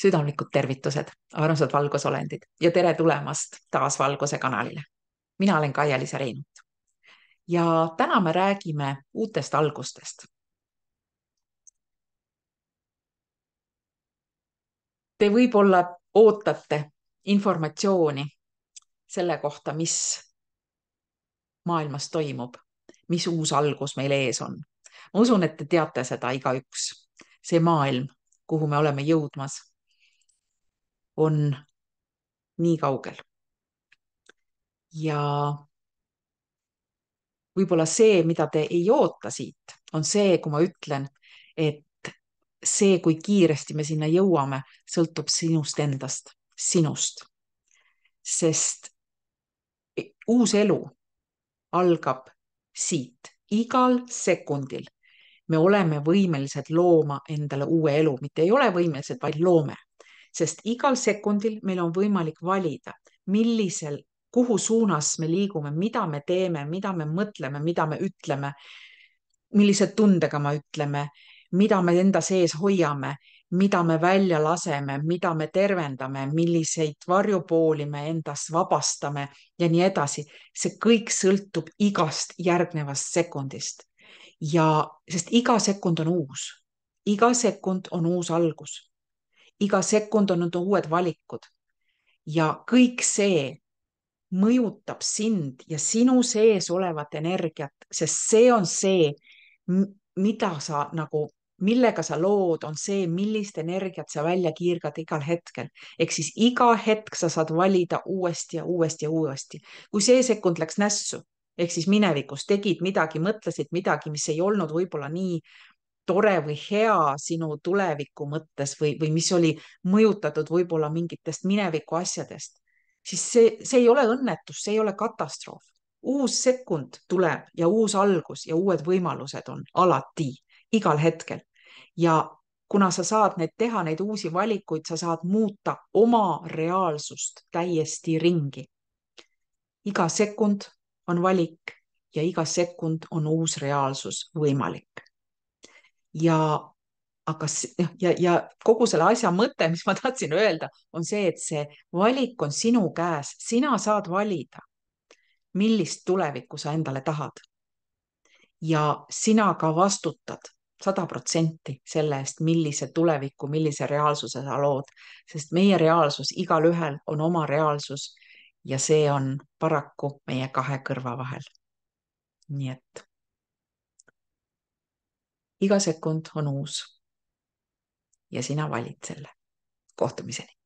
Südamlikud tervitused, armsad valgusolendid ja tere tulemast taas Valguse kanalile. Mina olen Kaia-Liisa Reinut ja täna me räägime uutest algustest. Te võib-olla ootate informatsiooni selle kohta, mis maailmas toimub, mis uus algus meil ees on. Ma usun, et te teate seda igaüks. See maailm, kuhu me oleme jõudmas, on nii kaugel. Ja võib-olla see, mida te ei oota siit, on see, kui ma ütlen, et see, kui kiiresti me sinna jõuame, sõltub sinust endast, sinust. Sest uus elu algab siit, igal sekundil. Me oleme võimelised looma endale uue elu, mitte ei ole võimelised, vaid loome. Sest igal sekundil meil on võimalik valida, kuhu suunas me liigume, mida me teeme, mida me mõtleme, mida me ütleme, millise tundega me ütleme, mida me enda sees hoiame, mida me välja laseme, mida me tervendame, milliseid varjupooli me endast vabastame ja nii edasi. See kõik sõltub igast järgnevast sekundist. Ja sest iga sekund on uus. Iga sekund on uus algus. Iga sekund on uued valikud. Ja kõik see mõjutab sind ja sinu sees olevat energiat, sest see on see, mida sa millega sa lood, on see, millist energiat sa välja kiirgad igal hetkel. Ehk siis iga hetk sa saad valida uuesti ja uuesti ja uuesti. Kui see sekund läks nässu, ehk siis minevikus tegid midagi, mõtlesid midagi, mis ei olnud võib-olla nii tore või hea sinu tuleviku mõttes või mis oli mõjutatud võib-olla mingitest mineviku asjadest, siis see ei ole õnnetus, see ei ole katastroof. Uus sekund tuleb ja uus algus ja uued võimalused on alati, igal hetkel. Ja kuna sa saad teha neid uusi valikuid, sa saad muuta oma reaalsust täiesti ringi. Iga sekund on valik ja iga sekund on uus reaalsus võimalik. Ja kogu selle asja mõte, mis ma tahtsin öelda, on see, et see valik on sinu käes. Sina saad valida, millist tulevikku sa endale tahad. Ja sina ka vastutad 100% selle eest, millise tuleviku, millise reaalsuse sa lood. Sest meie reaalsus, igalühel on oma reaalsus ja see on paraku meie kahe kõrva vahel. Nii et iga sekund on uus. Ja sina valid selle. Kohtumiseni.